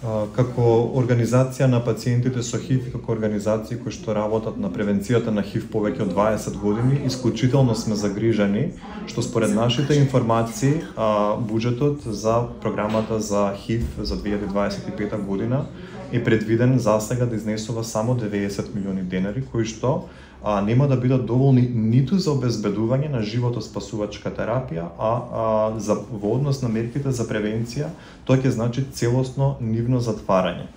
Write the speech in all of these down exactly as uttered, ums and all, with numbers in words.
Како организација на пациентите со ХИВ и како организации кои што работат на превенцијата на ХИВ повеќе од дваесет години, исклучително сме загрижени што според нашите информации буџетот за програмата за ХИВ за две илјади дваесет и пета година е предвиден засега да изнесува само деветдесет милиони денари, кои што а, нема да бидат доволни ниту за обезбедување на животоспасувачка терапија, а, а за во однос на мерките за превенција, тоа ќе значи целосно нивно затварање.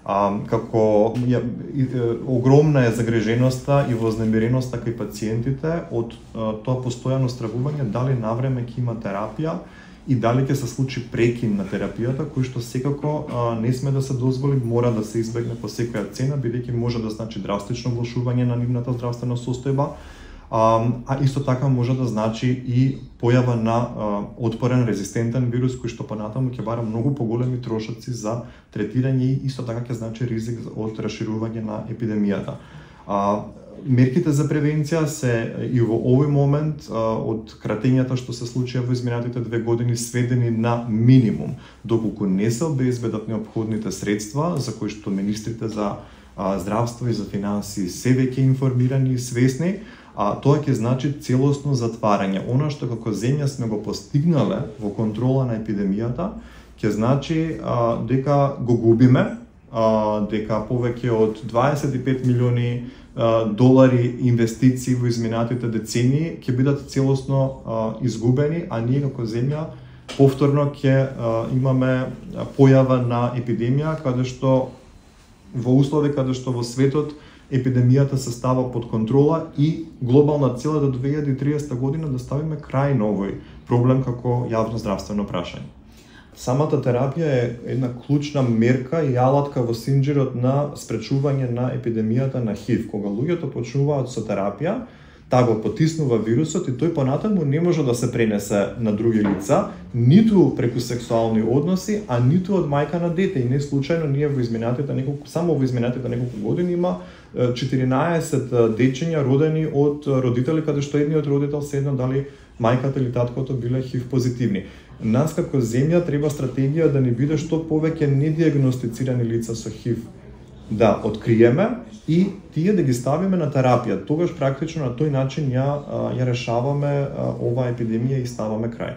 А, како ја, и, огромна е загриженоста и вознемиреноста кај пациентите од а, тоа постојано стравување дали навреме ќе има терапија и дали ќе се случи прекин на терапијата, кој што секако а, не сме да се дозволи, мора да се избегне по секоја цена, бидејќи може да значи драстично влошување на нивната здравствена состојба, а, а исто така може да значи и појава на а, отпорен резистентен вирус, кој што понатаму ќе бара многу поголеми трошоци за третирање и исто така ќе значи ризик од расширување на епидемијата. А, Мерките за превенција се и во овој момент од кратењата што се случија во изминатите две години сведени на минимум, доколку не се обезбедат неопходните средства за кои што министрите за здравство и за финансии се веќе информирани и свесни, а тоа ќе значи целосно затварање. Она што како земја сме го постигнале во контрола на епидемијата, ќе значи а, дека го губиме, а, дека повеќе од дваесет и пет милиони долари инвестиции во изминатите децении ќе бидат целосно а, изгубени, а ние како земја повторно ќе а, имаме појава на епидемија каде што во услови каде што во светот епидемијата се става под контрола и глобална цел до две илјади и триесета година да ставиме крај на овој проблем како јавно здравствено прашање. Самата терапија е една клучна мерка и алатка во синџирот на спречување на епидемијата на ХИВ. Кога луѓето почнуваат со терапија, таа го потиснува вирусот и тој понатаму не може да се пренесе на други лица, ниту преку сексуални односи, а ниту од мајка на дете. И не случајно ние во изминатите неколку, само во изминатите неколку години има четиринаесет дечиња родени од родители каде што едниот родител се едно дали мајката или таткото биле ХИВ позитивни. Нас како земја треба стратегија да не биде што повеќе недиагностицирани лица со ХИВ да откриеме и тие да ги ставиме на терапија. Тогаш практично на тој начин ја ја решаваме оваа епидемија и ставаме крај.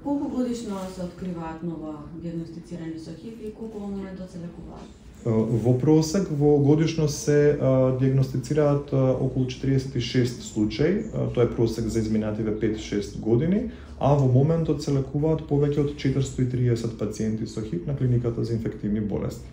Колку годишно се откриваат нова диагностицирани со ХИВ и колку во моментот се лекуваат? Во просек во годишно се а, диагностицираат а, околу четириесет и шест случаи, а, тоа е просек за изминативе пет-шест години, а во моментот се лекуваат повеќе од четиристотини и триесет пациенти со ХИВ на клиниката за инфективни болести.